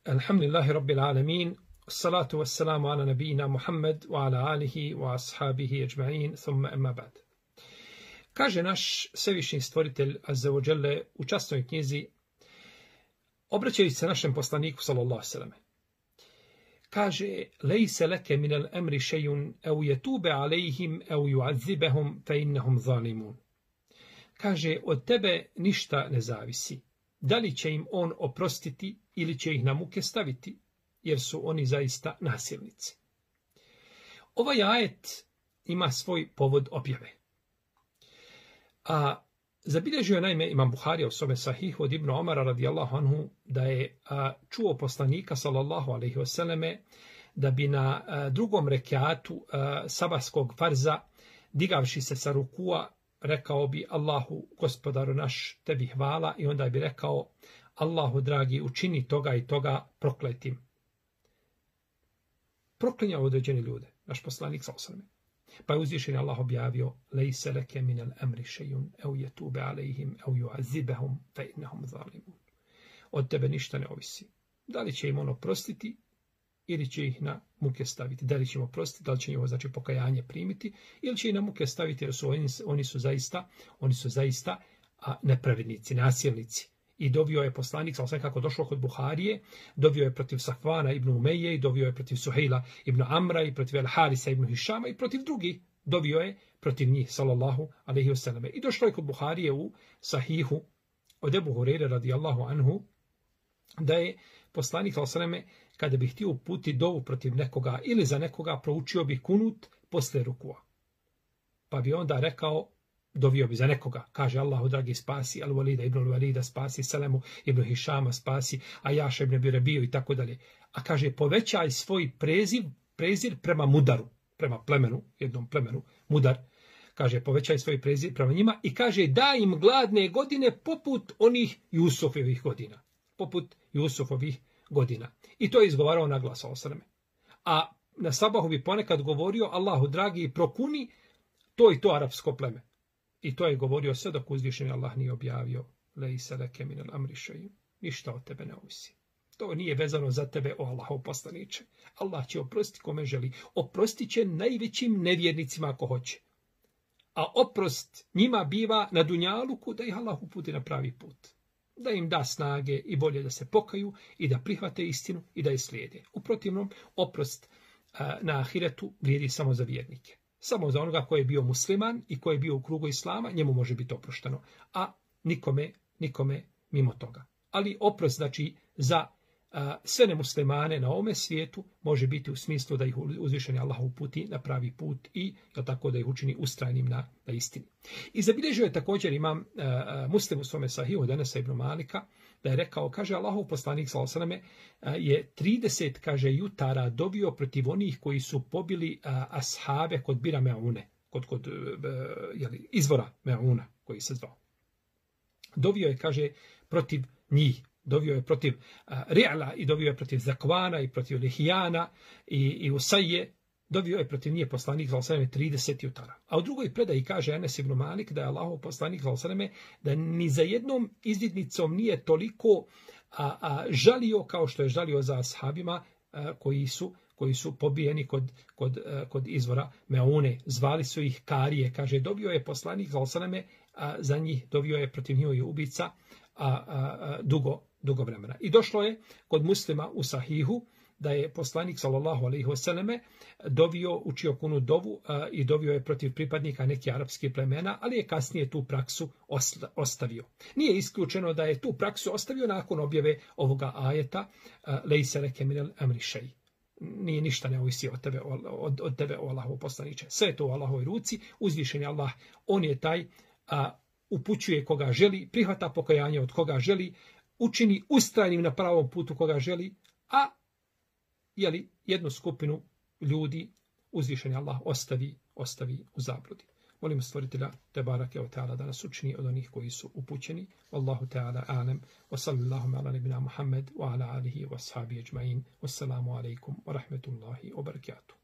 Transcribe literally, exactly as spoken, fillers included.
Alhamdulillahi Rabbil Alamin, salatu wassalamu ala nabijina Muhammad wa ala alihi wa ashabihi ajma'in, thumma amma ba'd. Kaže naš svevišnji stvoritelj Azza wa Jalla u časnoj knjizi, obraćajući se našem poslaniku sallallahu alejhi ve selleme, kaže: "Lejse leke min al-amri shay'un aw yatuba alejhim aw yu'azzibahum fa innahum zalimun." Kaže, od tebe ništa ne zavisi. Da li će im on oprostiti ili će ih na muke staviti, jer su oni zaista nasilnici. Ovaj ajet ima svoj povod objave. A zabilježio je naime Imam Buharija u svome sahihu od Ibn Omara radijallahu anhu da je a, čuo poslanika sallallahu alejhi ve selleme da bi na a, drugom rekatu a, sabahskog farza, digavši se sa rukua, rekao bi: "Allahu, gospodaru naš, tebi hvala", i onda bi rekao: "Allahu dragi, učini toga i toga prokletim." Proklinjao određene ljude, naš poslanik sallallahu alejhi ve selleme. Pa je uzvišeni Allah objavio: "Lejse leke min al-amri shay'un aw yatuba alejhim aw yu'azzibahum fa innahum zalimun." Od tebe ništa ne ovisi. Da li će im on oprostiti ili će ih na muke staviti. Da li će im oprostiti, da li će njihovo znači pokajanje primiti, ili će ih na muke staviti, jer su oni, oni su zaista, oni su zaista a, nepravednici, nasilnici. I dovio je poslanik, sallallahu alejhi ve sellem, kako došlo kod Buharije, dovio je protiv Safvana ibn Umeje, i dovio je protiv Suhejla ibn Amra, i protiv Al-Harisa ibn Hišama, i protiv drugih. Dovio je protiv njih, sallallahu alejhi ve selleme. I došlo je kod Buharije u Sahihu od Ebu Hurajre radijallahu anhu, da je poslanik, sallallahu alejhi ve selleme, kada bi htio uputiti dovu protiv nekoga ili za nekoga, proučio bi kunut posle rukua. Pa bi onda rekao, dovio bi za nekoga, kaže: "Allahu dragi, spasi Al-Walida ibn Al-Walida, spasi Selemu ibn Hišama, spasi Ajaša ibn Birabiju", i tako dalje. A kaže: "Povećaj svoj preziv, prezir prema Mudaru", prema plemenu, jednom plemenu, Mudar. Kaže: "Povećaj svoj prezir prema njima", i kaže: "Daj im gladne godine poput onih Jusufovih godina." Poput Jusufovih godina. I to je izgovarao na glas, sallallahu. A na sabahu bi ponekad govorio: "Allahu dragi, prokuni to i to arapsko pleme." I to je govorio sve dok uzvišeni Allah nije objavio: "Lejse leke min al-amri shay'un." Ništa od tebe ne ovisi. To nije vezano za tebe, o Allahov poslaniče. Allah će oprostiti kome želi. Oprostit će najvećim nevjernicima ako hoće. A oprost njima biva na dunjaluku da ih Allah uputi na pravi put. Da im da snage i volje da se pokaju i da prihvate istinu i da je slijede. U protivnom, oprost a, na ahiretu vrijedi samo za vjernike. Samo za onoga koji je bio musliman i koji je bio u krugu islama, njemu može biti oprošteno. A nikome, nikome mimo toga. Ali oprost, znači, za a, sve nemuslimane na ovome svijetu može biti u smislu da ih uzvišeni Allah uputi na pravi put i da tako da ih učini ustrajnim na, na istini. I zabilježio je također imam a, Muslim u svome sahihu od Enesa ibn Malika, da je rekao, kaže: "Allahov poslanik sallallahu alejhi ve selleme je trideset, kaže, jutara dovio protiv onih koji su pobili a, ashabe kod Bira Meune, kod, kod a, jeli, izvora Meuna koji se zvao. Dovio je, kaže, protiv njih. Dovio je protiv uh, Ri'la, i dovio je protiv Zakvana, i protiv Lihijana, i, i Usaje. Dovio je protiv njih poslanik sallallahu alejhi ve selleme trideset jutara. A u drugoj predaji kaže Enes ibn Malik da je Allahov poslanik sallallahu alejhi ve selleme da ni za jednom izvidnicom nije toliko a, a, žalio kao što je žalio za ashabima a, koji su koji su pobijeni kod, kod, a, kod izvora Meune. Zvali su ih Karije. Kaže, dovio je poslanik sallallahu alejhi ve selleme za njih, dovio je protiv njihovih ubica a, a, a, dugo dugo vremena. I došlo je kod Muslima u Sahihu da je poslanik sallallahu alejhi ve selleme dovio, učio kunu dovu a, i dovio je protiv pripadnika nekih arapskih plemena, ali je kasnije tu praksu ostavio. Nije isključeno da je tu praksu ostavio nakon objave ovoga ajeta: "Lejse leke min al-amri shay'." Nije ništa ne ovisi od tebe, od, od tebe, o Allahov poslaniče. Sve je to u Allahovoj ruci. Uzvišeni Allah, on je taj, a, upućuje koga želi, prihvata pokajanje od koga želi, učini ustrajnim na pravom putu koga želi, a jeli, jednu skupinu ljudi uzvišeni Allah ostavi, ostavi u zabludi. Molim stvoritelja Tebarake ve Teala da nas učini od onih koji su upućeni. Wallahu Teala alem. Wa sallallahu ala nabina Muhammed wa ala alihi wa ashabi ajma'in. Wassalamu alaikum wa rahmetullahi wa barakatuh.